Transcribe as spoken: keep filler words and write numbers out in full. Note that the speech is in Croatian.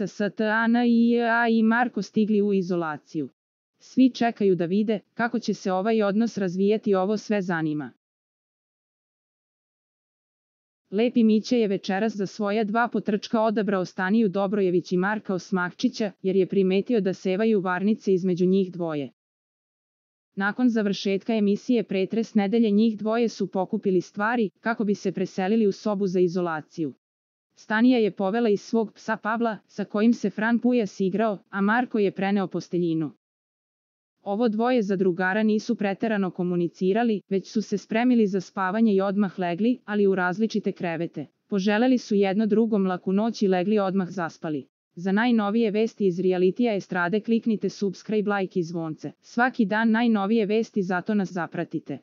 Stana i Marko stigli u izolaciju. Svi čekaju da vide kako će se ovaj odnos razvijeti, ovo sve zanima. Lepi Mića je večeras za svoja dva potrčka odabrao Staniju Dobrojević i Marka Osmahčića, jer je primetio da sevaju varnice između njih dvoje. Nakon završetka emisije Pretres nedelje njih dvoje su pokupili stvari kako bi se preselili u sobu za izolaciju. Stanija je povela iz svog psa Pavla, sa kojim se Fran Pujas igrao, a Marko je preneo posteljinu. Ovo dvoje zadrugara nisu preterano komunicirali, već su se spremili za spavanje i odmah legli, ali u različite krevete. Poželeli su jedno drugom laku noć i legli odmah zaspali. Za najnovije vesti iz realitija estrade kliknite subscribe, like i zvonce. Svaki dan najnovije vesti, zato nas zapratite.